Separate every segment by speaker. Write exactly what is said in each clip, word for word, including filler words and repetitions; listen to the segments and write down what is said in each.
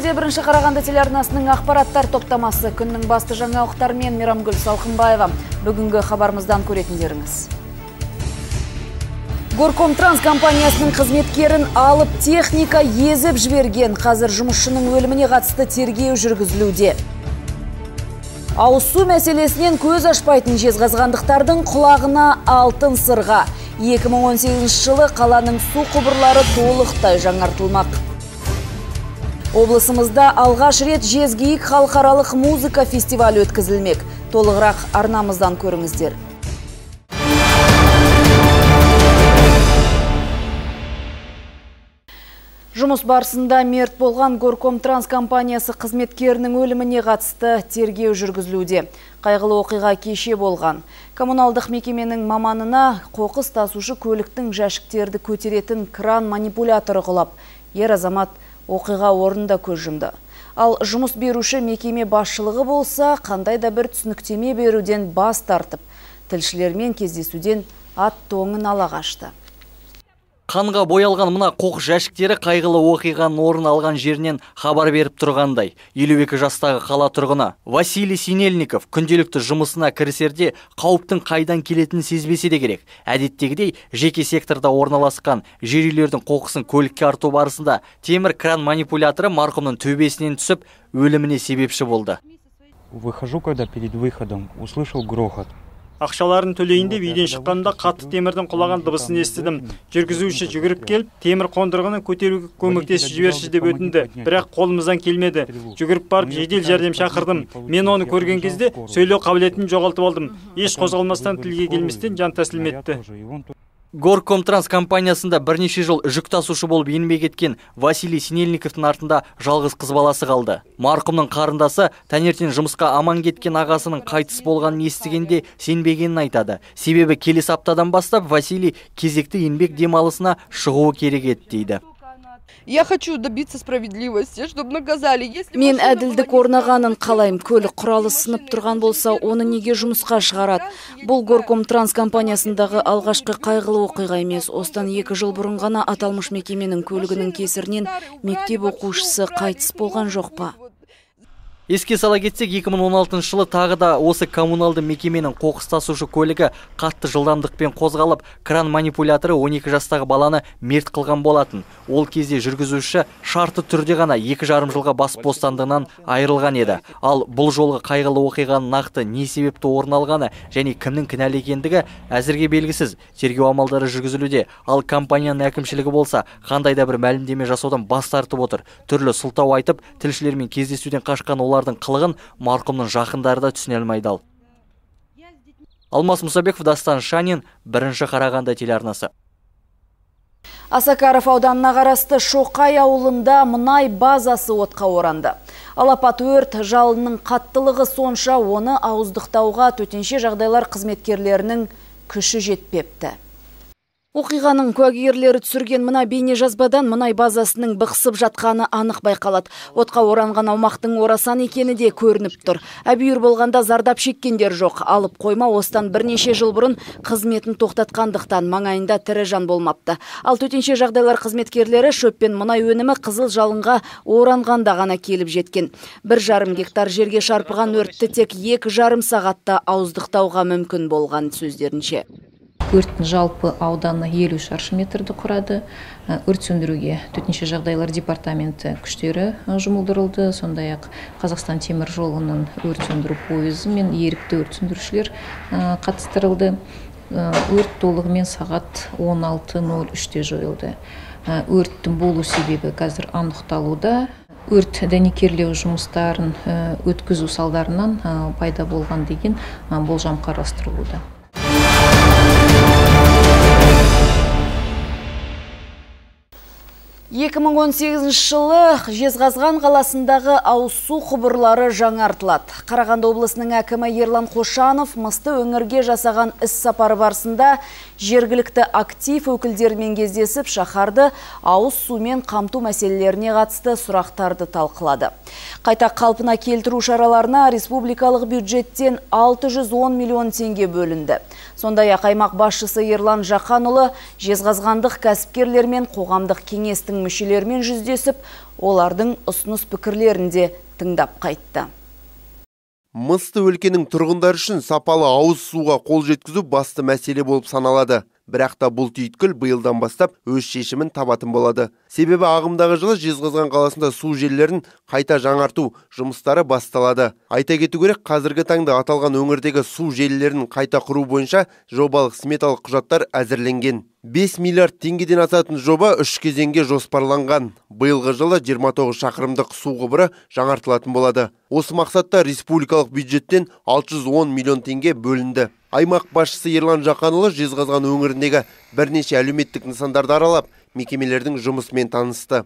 Speaker 1: эфирде бірінші Қарағанды телеарнасының ақпараттар топтамасы. Күннің басты жаңалықтарымен Мейрамгүл Салқынбаева. Бүгінгі хабарымыздан көретіндеріңіз. Горкомтранс компаниясының қызметкерін алып техника езіп жіберген. Қазір жұмысшының өліміне қатысты тергеу жүргізілуде. Ауыз су мәселесінен көз ашпайтын жезқазғандықтардың құлағына алтын сырға. екі мың он сегізінші жылы қаланың су құбырлары толықтай жаңартылмақ. Облысымызда алғаш рет Жезгейік халықаралық музыка фестивалі өткізілмек. Толығырақ арнамыздан көріңіздер. Жұмыс барысында мерт болған Горкомтранс компаниясы қызметкерінің өліміне қатысты тергеу жүргізілуде. Қайғылы оқиға кеше болған. Коммуналдық мекеменің маманына қоқыс тасушы көліктің жәшіктерді көтеретін кран манипуляторы құлап, ер азамат оқиға орнында көз жұмды. Ал жұмыс беруші мекеме басшылығы болса, қандай да бір түсініктеме беруден бас тартып, тілшілермен кездесуден ат тоңын ала қашты.
Speaker 2: Қанға боялған мына қоқыс жәшіктері қайғылы оқиғаның орын алған жерінен хабар беріп тұрғандай. елу екі жастағы қала тұрғыны Василий Синельников күнделікті жұмысына кірісерде қауіптің қайдан келетінін сезбесе де керек. Әдеттегідей жеке секторда орналасқан жер үйлердің қоқысын көлікке арту барысында темір кран манипуляторы марқұмның төбесінен түсіп, өліміне себепші болды.
Speaker 3: Выхожу, когда перед выходом услышал грохот.
Speaker 4: Ақшаларын төлейін деп үйден шыққанда қатты темірдің құлаған дыбысын естідім. Жүргізуші жүгіріп келіп, темір қондырғыны көтеруге көмектесіп жіберші деп өтінді. Бірақ қолымыздан келмеді. Жүгіріп барып жедел жәрдем шақырдым. Мен оны көрген кезде сөйлеу қабілетін жоғалтып алдым. Еш қозғалмастан, тілге келместен жан тәсілім етті.
Speaker 2: Горкомтранс компаниясында бірнеше жыл жүк тасушы болып еңбек еткен Василий Синельниковтың артында жалғыз қыз баласы қалды. Марқұмның қарындасы таңертең жұмысқа аман кеткен ағасының қайтыс болғанын естігенде сенбегенін айтады. Себебі келесі аптадан бастап Василий кезекті еңбек демалысына шығуы керек еді дейді.
Speaker 5: Я хочу добиться справедливости, чтобы наказали.
Speaker 1: Мен әділдік орнағанын қалайым. Көлік құралы сынып тұрған болса, оны неге жұмысқа шығарады? Бұл Горкомтранс компаниясындағы алғашқы қайғылы оқиға емес. Осыдан екі жыл бұрын ғана аталмыш мекеменің көлігінің кесірінен мектеп оқушысы қайтыс болған жоқ па?
Speaker 2: Еске сала кетсек, екі мың он алтыншы жылы тағы да осы коммуналды мекеменің қоқыс тасушы көлігі қатты жылдамдықпен қозғалып, кран манипуляторы он екі жастағы баланы мерт қылған болатын. Ол кезде жүргізуші шартты түрде ғана екі жарым жылға бас бостандығынан айырылған еді. Ал бұл жолғы қайғылы оқиғаның нақты не себепті орын алғаны және кімнің кінәлі екендігі әзірге белгісіз. Тергеу амалдары жүргізілуде. Ал компанияның әкімшілігі болса, қандай да бір мәлімдеме жасаудан бас тартып отыр. Түрлі сылтау айтып, тілшілермен кездесуден қашқан олар қылығын марқұмның жақындары да түсіне алмай дал. Алмас Мұсабеков, Дастан Шанин, бірінші Қарағанды телеарнасы.
Speaker 1: Асакаров ауданына қарасты Шоқай ауылында мұнай базасы отқа оранды. Алапат өрт жалынның қаттылығы сонша оны ауыздықтауға төтенше жағдайлар қызметкерлерінің күші жетпепті. Оқиғаның куәгерлері түсірген мына бейне жазбадан мұнай базасының бықсып жатқаны анық байқалады. Отқа оранған аумақтың орасан екені де көрініп тұр. Әбүйір болғанда зардап шеккендер жоқ. Алып қойма остан бірнеше жыл бұрын қызметін тоқтатқандықтан маңайында тірі жан болмапты. Ал төтенше жағдайлар қызметкерлері шөппен мұнай өнімі қызыл жалынға оранғанда ғана келіп жеткен. Бір жарым гектар жерге шарпыған өртті тек екі жарым сағатта ауыздықтауға мүмкін болған сөздерінше.
Speaker 6: Өрттің жалпы ауданы елу шаршы метрді құрады. Өрт сөндіруге төтенше жағдайлар департаменті күштері жұмылдырылды. Сондай-ақ Қазақстан темір жолының өрт сөндіру пойызы мен ерікті өрт сөндірушілер қатыстырылды. Өрт толығымен сағат он алты нөл үште жойылды. Өрттің болу себебі қазір анықталуда. Өрт дәнекерлеу жұмыстарын өткізу салдарынан пайда болған деген болжам қарастырылуда.
Speaker 1: екі мың он сегізінші жылы Жезқазған қаласындағы ауыз су құбырлары жаңартылады. Қарағанды облысының әкімі Ерлан Қошанов мысты өңірге жасаған іс сапары барысында жергілікті актив өкілдерімен кездесіп, шаһарды ауыз сумен қамту мәселелеріне қатысты сұрақтарды талқылады. Қайта қалпына келтіру шараларына республикалық бюджеттен алты жүз он миллион теңге бөлінді. Сондай-ақ аймақ басшысы Ерлан Жақанұлы Жезқазғандық кәсіпкерлер мен қоғамдық кеңестің мүшелерімен жүздесіп, олардың ұсыныс пікірлерін де тыңдап қайтты.
Speaker 7: Мысты өлкенің тұрғындар үшін сапалы ауыз суға қол жеткізу басты мәселе болып саналады. Бірақ та бұл түйткіл биылдан бастап өз шешімін табатын болады. Себебі ағымдағы жылы Жезқазған қаласында су желілерін қайта жаңарту жұмыстары басталады. Айта кету керек, қазіргі таңда аталған өңірдегі су желілерін қайта құру бойынша жобалық сметалық құжаттар әзірленген. бес миллиард теңгеден асатын жоба үш кезеңге жоспарланған. Биылғы жылы жиырма тоғыз шақырымдық су құбыры жаңартылатын болады. Осы мақсатта республикалық бюджеттен алты жүз он миллион теңге бөлінді. Аймақ басшысы Ерлан Жақанұлы Жезқазған өңіріндегі бірнеше әлеуметтік нысандарды аралап, мекемелердің жұмысымен танысты.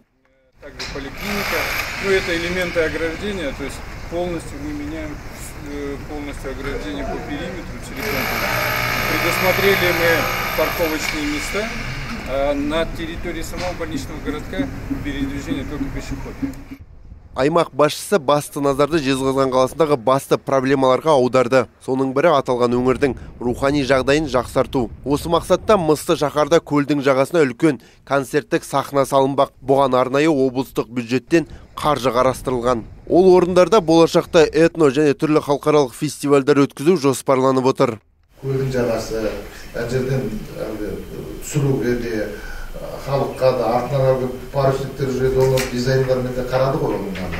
Speaker 8: Также поликлиника, ну это элементы ограждения, то есть полностью мы меняем полностью ограждение по периметру целиком. Предусмотрели мы парковочные места, а на территории самого больничного городка передвижение только пешеходов.
Speaker 7: Аймақ басшысы басты назарды Жезқазған қаласындағы басты проблемаларға аударды. Соның бірі аталған өңірдің рухани жағдайын жақсарту. Осы мақсатта Мысты шаһарда көлдің жағасына үлкен концерттік сахна салынбақ. Бұған арнайы облыстық бюджеттен қаржы қарастырылған. Ол орындарда болашақта этно және түрлі халықаралық фестивальдар өткізу жоспарланып отыр.
Speaker 9: Көлдің жағасы, жерден түсіруге де, халыққа да артынан парусниктер жүреді, олар дизайнлармен де қарады ғой олар.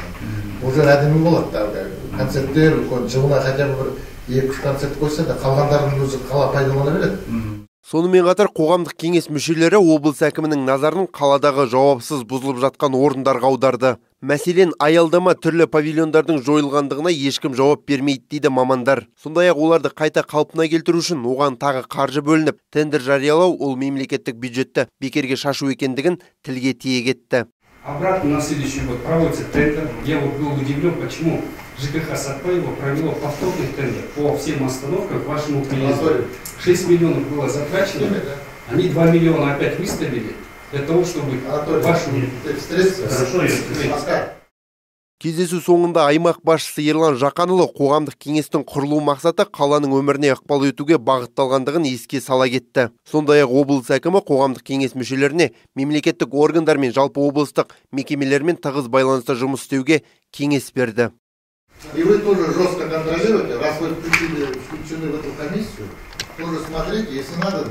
Speaker 9: Бұл жер әдемі болады. Концерттер, жылына хотя бы екі үш концерт қойса да қалғандардың өзі қала пайдалана береді.
Speaker 7: Сонымен қатар қоғамдық кеңес мүшелері облыс әкімінің назарын қаладағы жауапсыз бұзылып жатқан орындарға аударды. Мәселен, аялдама түрлі павильондардың жойылғандығына ешкім жауап бермейді дейді мамандар. Сондай-ақ оларды қайта қалпына келтіру үшін оған тағы қаржы бөлініп, тендер жариялау ол мемлекеттік бюджетті бекерге шашу екендігін тілге тиек етті.
Speaker 10: Обратно на следующий год проводится тендер. Я вот был удивлен, почему ЖКХ Сатпаева провело повторный тендер по всем остановкам к вашему приезду. шесть миллионов было затрачено, они два миллиона опять выставили для того, чтобы вашу...
Speaker 7: Кездесу соңында аймақ басшысы Ерлан Жақанұлы қоғамдық кеңестің құрылу мақсаты қаланың өміріне ықпал етуге бағытталғандығын еске сала кетті. Сондай-ақ облыс әкімі қоғамдық кеңес мүшелеріне мемлекеттік органдар мен жалпы облыстық мекемелермен тығыз байланыста жұмыс істеуге кеңес берді.
Speaker 9: И вы тоже жестко контролируете, раз вы включили, включены в эту комиссию, тоже смотрите, если надо,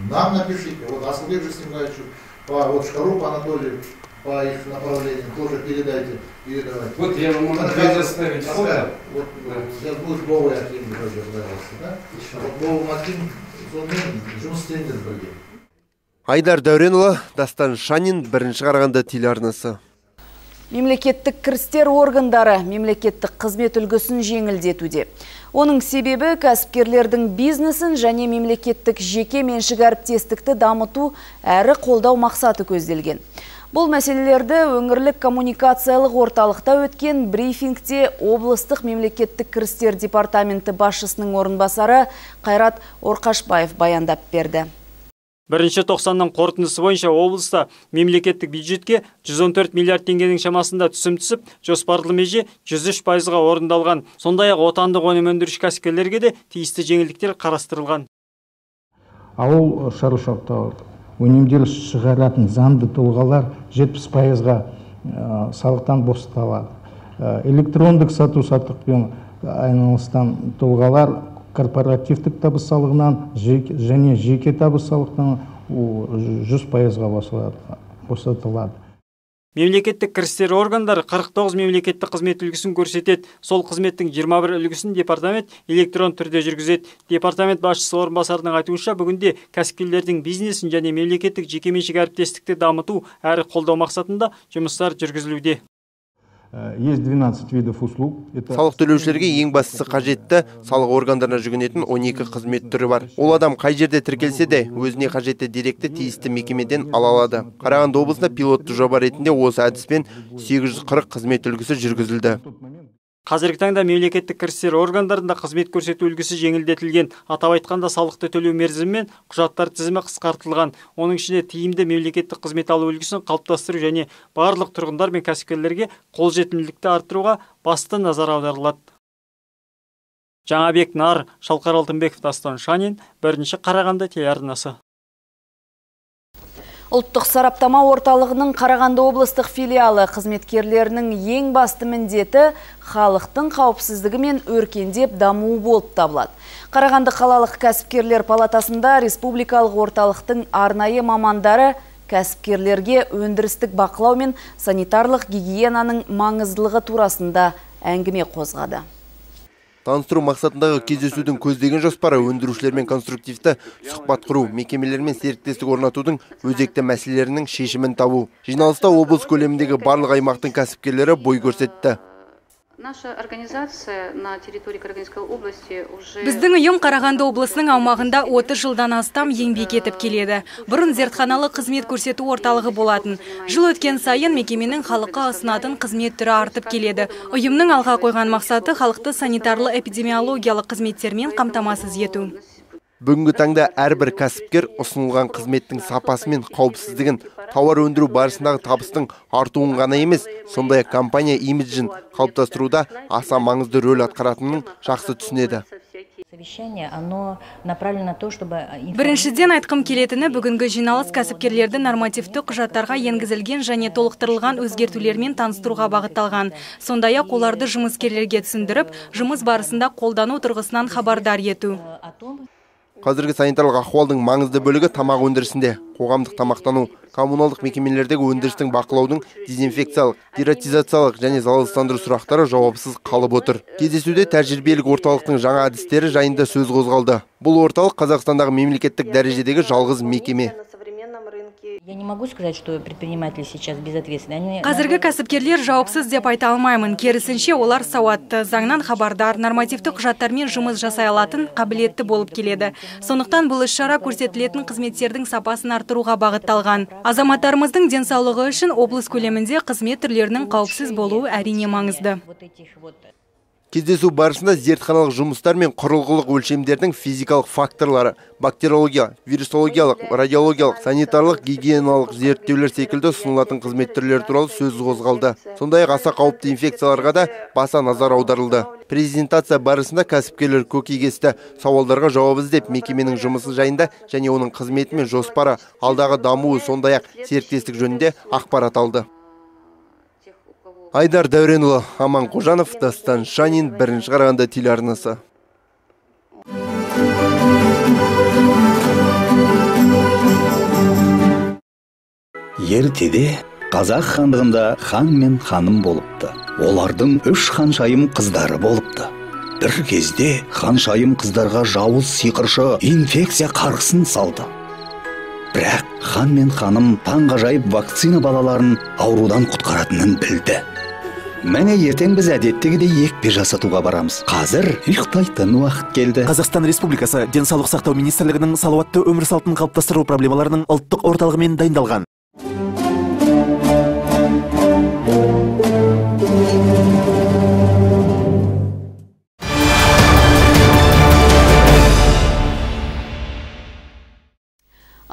Speaker 9: нам напишите, вот Асылбек Жесимовичу, по вот Шкарупу Анатолию, по их направлениям тоже передайте, передавайте.
Speaker 10: Вот я вам могу предоставить фото.
Speaker 9: Вот сейчас будет новый Аким, да? Вот новый Аким, жұмыс істеңдер бірге.
Speaker 7: Айдар Дәуренұлы, Дастан Шанин, бірінші Қарағанды телеарнасы.
Speaker 1: Мемлекеттік кірістер органдары мемлекеттік қызмет үлгісін жеңілдетуде. Оның себебі кәсіпкерлердің бизнесін және мемлекеттік жеке меншік әріптестікті дамыту әрі қолдау мақсаты көзделген. Бұл мәселелерді өңірлік коммуникациялық орталықта өткен брифингте облыстық мемлекеттік кірістер департаменті басшысының орынбасары Қайрат Орқашбаев баяндап берді.
Speaker 4: Бірінші тоқсанның қорытындысы бойынша облыста мемлекеттік бюджетке жүз он төрт миллиард теңгенің шамасында түсім түсіп, жоспарлы меже жүз үш пайызға орындалған. Сондай-ақ отандық өнім өндіруші кәсіпкерлерге де тиісті жеңілдіктер қарастырылған.
Speaker 11: Ауыл шаруашылықта өнімдер шығаратын заңды тұлғалар жетпіс пайызға салықтан босатылады. Электрондық сату-саттықпен айналысқан тұлғалар корпоративтік табыс салығынан және жеке табыс салықтан жүз пайызға босатылады.
Speaker 4: Мемлекеттік кірістер органдары қырық тоғыз мемлекеттік қызмет үлгісін көрсетеді. Сол қызметтің жиырма бір үлгісін департамент электрон түрде жүргізеді. Департамент басшысы орынбасарының айтуынша, бүгінде кәсіпкерлердің бизнесін және мемлекеттік жекеменшік әріптестікті дамыту әрі қолдау мақсатында жұмыстар жүргізілуде.
Speaker 11: Есть двенадцать видов услуг.
Speaker 7: Салық төлеушілерге ең бастысы қажетті салық органдарына жүгінетін он екі қызмет түрі бар. Ол адам қай жерде тіркелсе де өзіне қажетті деректі тиісті мекемеден ала алады. Қарағанды облысында пилотты жоба ретінде осы әдіспен сегіз жүз қырық қызмет үлгісі жүргізілді.
Speaker 4: Қазіргі таңда мемлекеттік кірістер органдарында қызмет көрсету үлгісі жеңілдетілген. Атап айтқанда салықты төлеу мерзімі мен құжаттар тізімі қысқартылған. Оның ішінде тиімді мемлекеттік қызмет алу үлгісін қалыптастыру және барлық тұрғындар мен кәсіпкерлерге қолжетімділікті арттыруға басты назар аударылады. Жаңабек Нар, Шалқар Алтынбеков, Дастан Шанин, бірінші Қарағанды телеарнасы.
Speaker 1: Ұлттық сараптама орталығының Қарағанды облыстық филиалы қызметкерлерінің ең басты міндеті халықтың қауіпсіздігі мен өркендеп дамуы болып табылады. Қарағанды қалалық кәсіпкерлер палатасында республикалық орталықтың арнайы мамандары кәсіпкерлерге өндірістік бақылау мен санитарлық гигиенаның маңыздылығы турасында әңгіме қозғады.
Speaker 7: Таныстыру мақсатындағы кездесудің көздеген жоспары өндірушілермен конструктивті сұхбат құру, мекемелермен серіктестік орнатудың өзекті мәселелерінің шешімін табу. Жиналыста облыс көлеміндегі барлық аймақтың кәсіпкерлері бой көрсетті.
Speaker 12: Біздің ұйым Қарағанды облысының аумағында отыз жылдан астам еңбек етіп келеді. Бұрын зертханалы қызмет көрсету орталығы болатын. Жыл өткен сайын мекеменің халыққа ұсынатын қызмет түрі артып келеді. Ұйымның алға қойған мақсаты халықты санитарлы эпидемиологиялық қызметтермен қамтамасыз ету.
Speaker 7: Бүгінгі таңда әрбір кәсіпкер ұсынылған қызметтің сапасы мен қауіпсіздігін, тауар өндіру барысындағы табыстың артуын ғана емес, сондай-ақ компания имиджін қалыптастыруда аса маңызды рөл атқаратынын жақсы түсінеді.
Speaker 12: Біріншіден айтқым келетіні, бүгінгі жиналыс кәсіпкерлерді нормативті құжаттарға енгізілген және толықтырылған өзгертулермен таныстыруға бағытталған. Сондай-ақ оларды жұмыскерлерге түсіндіріп, жұмыс барысында қолдану тұрғысынан хабардар ету.
Speaker 7: Қазіргі санитарлық ахуалдың маңызды бөлігі тамақ өндірісінде. Қоғамдық тамақтану, коммуналдық мекемелердегі өндірістің бақылаудың деzinfекциялық, дератизациялық және залалсыздандыру сұрақтары жауапсыз қалып отыр. Кездесуде тәжірибелік орталықтың жаңа әдістері жайында сөз қозғалды. Бұл орталық Қазақстандағы мемлекеттік дәрежедегі жалғыз мекеме.
Speaker 12: Қазіргі кәсіпкерлер жауапсыз деп айта алмаймын. Керісінше олар сауатты, заңнан хабардар, нормативті құжаттармен жұмыс жасай алатын, қабілетті болып келеді. Сондықтан бұл іс-шара көрсетілетін қызметтердің сапасын арттыруға бағытталған. Азаматтарымыздың денсаулығы үшін облыс көлемінде қызмет түрлерінің қауіпсіз болуы әрине маңызды.
Speaker 7: Кездесу барысында зертханалық жұмыстар мен құрылғылық өлшемдердің физикалық факторлары, бактериология, вирусологиялық, радиологиялық, санитарлық, гигиеналық зерттеулер секілді ұсынылатын қызмет түрлері туралы сөз қозғалды. Сондай-ақ аса қауіпті инфекцияларға да баса назар аударылды. Презентация барысында кәсіпкерлер көкейкесті сауалдарға жауап іздеп, мекеменің жұмысы жайында және оның қызметі мен жоспары, алдағы дамуы, сондай-ақ серіктестік жөнінде ақпарат алды. Айдар Дәуренұлы, Аман Қожанов, Дастан Шанин, бірінші Қарағанды телеарнасы.
Speaker 13: Ертеде қазақ хандығында хан мен ханым болыпты. Олардың үш ханшайым қыздары болыпты. Бір кезде ханшайым қыздарға жауыз сиқыршы инфекция қарғысын салды. Бірақ хан мен ханым таңғажайып вакцина балаларын аурудан құтқаратынын білді. Мәне ертең біз әдеттегідей екпе жасатуға барамыз. Қазір ұйықтайтын уақыт келді.
Speaker 14: Қазақстан Республикасы Денсаулық сақтау министрлігінің салауатты өмір салтын қалыптастыру проблемаларының ұлттық орталығымен дайындалған.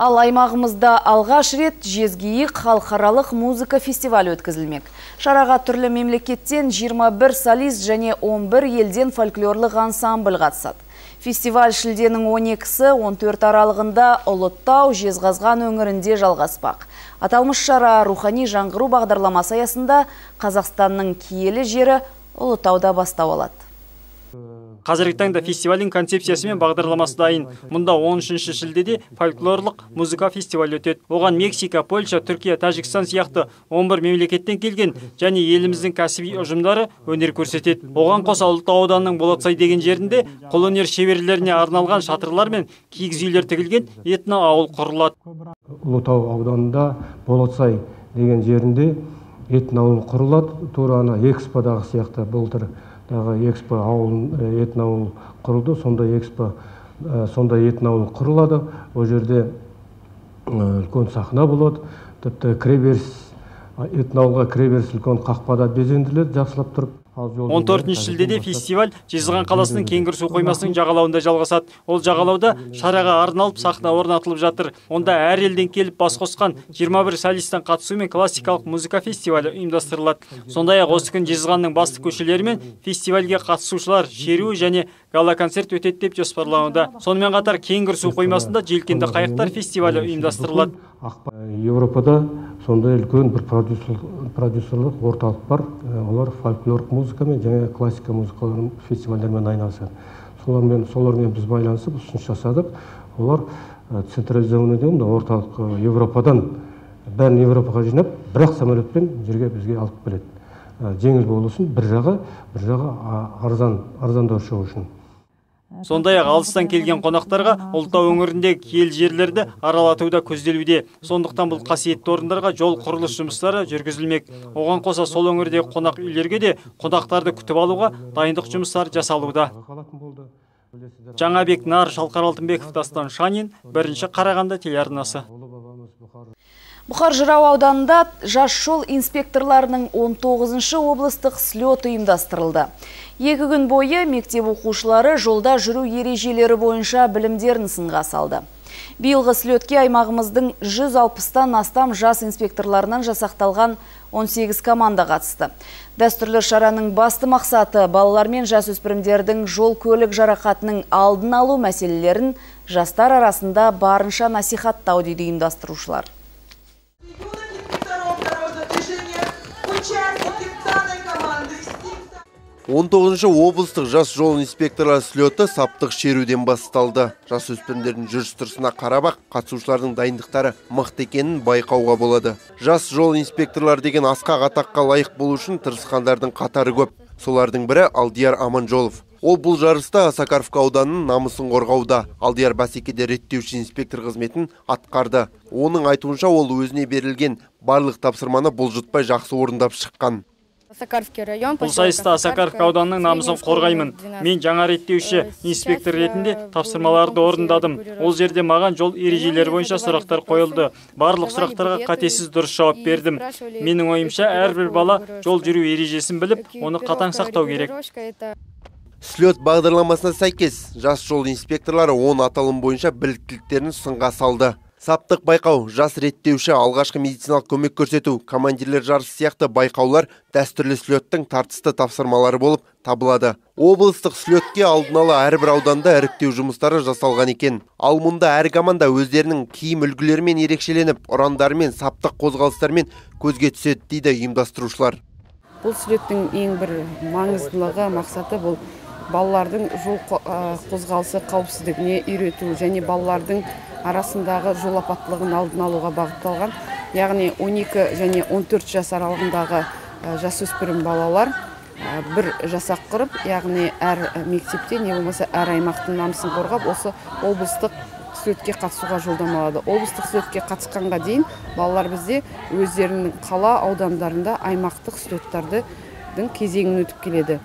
Speaker 1: Ал аймағымызда алғаш рет Жезгиік халықаралық музыка фестивалі өткізілмек. Шараға түрлі мемлекеттен жиырма бір солист және он бір елден фольклорлық ансамбль қатысады. Фестиваль шілденің он екісі он төрт аралығында Ұлытау, Жезқазған өңірінде жалғаспақ. Аталмыш шара рухани жаңғыру бағдарламасы аясында Қазақстанның киелі жері Ұлытауда бастау алады.
Speaker 4: Қазіргі таңда фестивалдің концепциясы мен бағдарламасы дайын. Мұнда он үшінші шілдеде фольклорлық музыка фестивалі өтеді. Оған Мексика, Польша, Түркия, Тәжікстан сияқты он бір мемлекеттен келген және еліміздің кәсіби ұжымдары өнер көрсетеді. Оған қоса Ұлытау ауданының Болатсай деген жерінде қолөнер шеберлеріне арналған шатырлар мен киіз үйлер тігілген этно ауыл құрылады.
Speaker 15: Ұлытау ауданында Болатсай деген жерінде этно ауыл құрылады. Тура ана эксподағы сияқты былтыр экспо ауыл этно ауыл құрылды, сондай экспо сондай этно ауыл құрылады. Ол жерде үлкен сахна болады. Тіпті кіреберіс этно ауылға кіреберіс үлкен қақпада безендіріледі, жақсылап тұрып.
Speaker 4: он төртінші шілдеде фестиваль Жезқазған қаласының Кеңгір су қоймасының жағалауында жалғасады. Ол жағалауда шараға арналып сахна орнатылып жатыр. Онда әр елден келіп бас қосқан жиырма бір солисттің қатысуымен классикалық музыка фестивалі ұйымдастырылады. Сондай-ақ осы күн Жезқазғанның басты көшелері мен фестивальге қатысушылар шеру және гала-концерт өтеді деп жоспарлануда. Сонымен қатар Кеңгір су қоймасында желкенді қайықтар фестивалі ұйымдастырылады.
Speaker 15: Европада сондай үлкен бір продюсерлік орталық бар. Олар фольклорлық музыкамен және классика музыкаларын фестивальдермен айналысады. Солармен, солармен біз байланысып ұсыныс жасадық. Олар централизованный деген орталық Европадан бәрін Европаға жинап, бірақ самолетпен жерге бізге алып келеді. Жеңіл болу үшін бір жағы, бір жағы арзан, арзандау шығу үшін.
Speaker 4: Сондай-ақ алыстан келген қонақтарға Ұлытау өңіріндегі киелі жерлерді аралатуда көзделуде. Сондықтан бұл қасиетті орындарға жол құрылыс жұмыстары жүргізілмек. Оған қоса сол өңірдегі қонақ үйлерге де қонақтарды күтіп алуға дайындық жұмыстары жасалуда. Жаңабек Нар, Шалқар Алтынбеков, Дастан Шанин, бірінші Қарағанды телеарнасы.
Speaker 1: Бұқар Жырау ауданында жас жол инспекторларының он тоғызыншы облыстық слет ұйымдастырылды. Екі күн бойы мектеп оқушылары жолда жүру ережелері бойынша білімдерін сынға салды. Биылғы слетке аймағымыздың жүз алпыстан астам жас инспекторларынан жасақталған он сегіз команда қатысты. Дәстүрлі шараның басты мақсаты балалар мен жасөспірімдердің жол көлік жарақатының алдын алу мәселелерін жастар арасында барынша насихаттау дейді ұйымдастырушылар.
Speaker 7: он тоғызыншы облыстық жас жол инспекторлар слеті саптық шеруден басталды. Жасөспірімдердің жүріс-тұрысына қарап, қатысушылардың дайындықтары мықты екенін байқауға болады. Жас жол инспекторлар деген асқақ атаққа лайық болу үшін тырысқандардың қатары көп. Солардың бірі Алдияр Аманжолов. Ол бұл жарыста Осакаровка ауданының намысын қорғауда. Алдияр бәсекеде реттеуші инспектор қызметін атқарды. Оның айтуынша ол өзіне берілген барлық тапсырманы бұлжытпай жақсы орындап шыққан.
Speaker 4: Бұл сайыста Осакаровка ауданының намысын қорғаймын. Мен жаңа реттеуші инспектор ретінде тапсырмаларды орындадым. Ол жерде маған жол ережелері бойынша сұрақтар қойылды. Барлық сұрақтарға қатесіз дұрыс жауап бердім. Менің ойымша әрбір бала жол жүру ережесін біліп, оны қатаң сақтау керек.
Speaker 7: Слет бағдарламасына сәйкес, жас жол инспекторлары он аталым бойынша біліктіліктерін сынға салды. Саптық байқау, жас реттеуші, алғашқы медициналық көмек көрсету, командирлер жарысы сияқты байқаулар дәстүрлі слеттің тартысты тапсырмалары болып табылады. Облыстық слетке алдын ала әрбір ауданда іріктеу жұмыстары жасалған екен. Ал мұнда әр команда өздерінің киім үлгілерімен ерекшеленіп, ұрандарымен, саптық қозғалыстармен көзге түседі дейді ұйымдастырушылар.
Speaker 16: Бұл слеттің ең бір маңыздылығы, мақсаты бұл балалардың жол қозғалысы қауіпсіздігіне үйрету және балалардың арасындағы жол апаттылығын алдын алуға бағытталған. Яғни он екі және он төрт жас аралығындағы жасөспірім балалар бір жасақ құрып, яғни әр мектепте не болмаса әр аймақтың намысын қорғап, осы облыстық слетке қатысуға жолдама алады. Облыстық слетке қатысқанға дейін балалар бізде өздерінің қала аудандарында аймақтық слеттардың кезеңін өтіп келеді.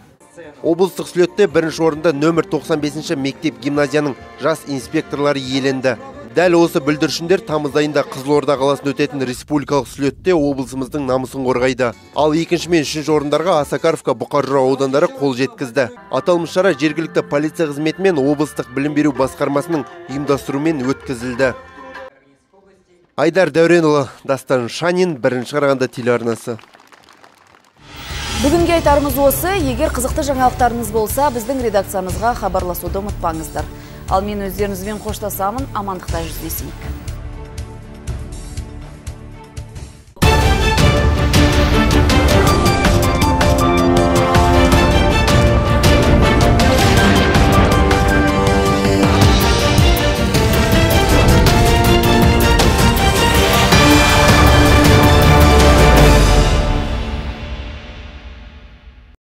Speaker 7: Облыстық слетте бірінші орында нөмір тоқсан бесінші мектеп гимназияның жас инспекторлары иеленді. Дәл осы бүлдіршіндер тамыз айында Қызылорда қаласында өтетін республикалық слетте облысымыздың намысын қорғайды. Ал екінші мен үшінші орындарға Осакаровка, Бұқар Жырау аудандары қол жеткізді. Аталмыш шара жергілікті полиция қызметі мен облыстық білім беру басқармасының ұйымдастыруымен өткізілді. Айдар Дәуренұлы, Дастан Шанин, бірінші Қарағанды телеарнасы.
Speaker 1: Бүгінге айтарымыз осы. Егер қызықты жаңалықтарыңыз болса, біздің редакциямызға хабарласуды ұмытпаңыздар. Ал мен өздеріңізбен қоштасамын, амандықта жүздесейік.